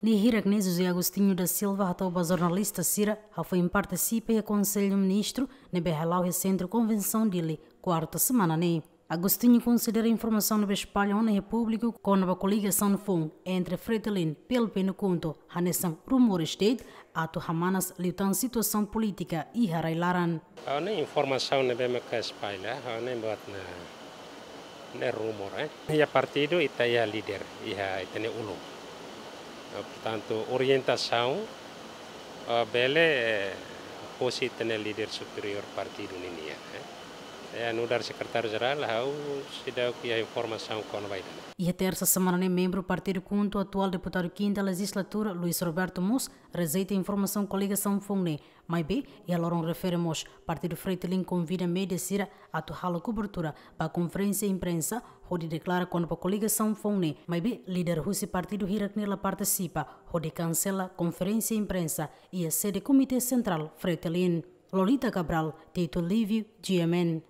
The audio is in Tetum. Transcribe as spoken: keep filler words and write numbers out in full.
Lia hirak ne'e José Agostinho da Silva hato'o ba jornalista sira, hafoin partisipa iha Konsellu Ministru ne'ebé hala'o iha Sentru Konvensaun Dili, kuarta semana ne'e. Agostinho konsidera informasaun ne'ebé espalla ona iha públiku kona-ba koligasaun foun entre Fretilin, PLP no KHUNTO hanesan rumores de'it, atu hamanas liután situasaun polítika iha rai-laran. Ha'u hanoin informasaun ne'ebé maka espalla, ha'u hanoin buat ne'e, ne'e rumor, eh. Iha partidu ita iha líder, iha ita-nia ulun. Eh, portantu, orientasaun, eh, bele, eh, husi ita-nia líder superiór partidu ninian, eh. Eh, nu'udar sekretáriu jerál, ha'u seidauk iha informasaun kona-ba ida-ne'e. Iha tersa semana ne'e, membru partidu KHUNTO, atuál deputadu kinta lejizlatura, Luis Roberto mós rejeita informasaun koligasaun foun ne'e, maibé iha loron refere mós, partidu Fretilin konvida média sira atu halo kobertura ba konferénsia imprensa hodi deklara kona-ba koligasaun foun ne'e, maibé líder husi partidu hirak ne'e la partisipa hodi kansela konferénsia imprensa iha sede Komité Sentrál Fretilin. Lolita Cabral, Tito Livio, G M N.